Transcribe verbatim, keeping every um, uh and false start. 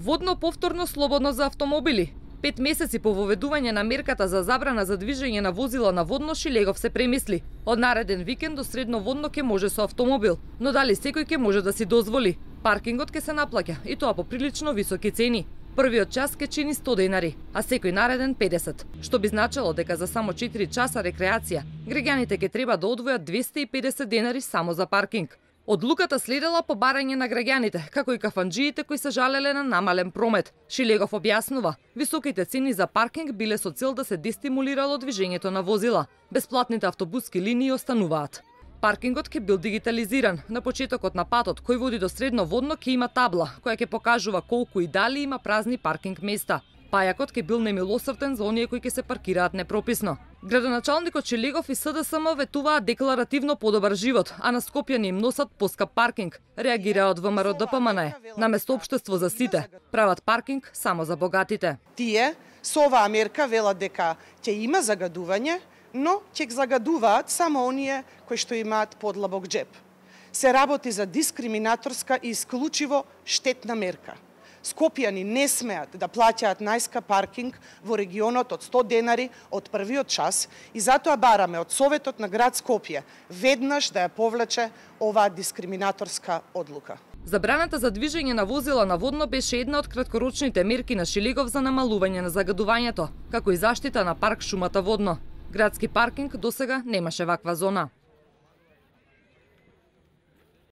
Водно повторно слободно за автомобили. Пет месеци по воведување на мерката за забрана за движење на возила на водно, Шилегов се премисли. Од нареден викенд до средно водно ќе може со автомобил, но дали секој ќе може да си дозволи? Паркингот ќе се наплаќа и тоа по прилично високи цени. Првиот час ќе чини сто денари, а секој нареден педесет, што би значило дека за само четири часа рекреација граѓаните ќе треба да одвојат двесте и педесет денари само за паркинг. Одлуката следела по барање на граѓаните, како и кафанџиите кои се жалеле на намален промет. Шилегов објаснува, високите цени за паркинг биле со цел да се дестимулирало движењето на возила. Бесплатните автобуски линии остануваат. Паркингот ќе бил дигитализиран. На почетокот на патот кој води до средно водно ќе има табла која ќе покажува колку и дали има празни паркинг места. Пајакот ќе бил немилосрден за оние кои ќе се паркираат непрописно. Градоначалникот Шилегов и СДСМ ветуваат декларативно подобар живот, а на Скопјани им носат поскап паркинг. Реагираат ВМРО ДПМН. Наместо општество за сите, прават паркинг само за богатите. Тие со оваа мерка велат дека ќе има загадување, но ќе загадуваат само оние кои што имаат подлабок джеб. Се работи за дискриминаторска и исклучиво штетна мерка. Скопјани не смеат да плаќаат најскап паркинг во регионот од сто денари од првиот час и затоа бараме од Советот на град Скопје веднаш да ја повлече оваа дискриминаторска одлука. Забраната за движење на возила на водно беше една од краткорочните мерки на Шилегов за намалување на загадувањето, како и заштита на парк шумата водно. Градски паркинг досега немаше ваква зона.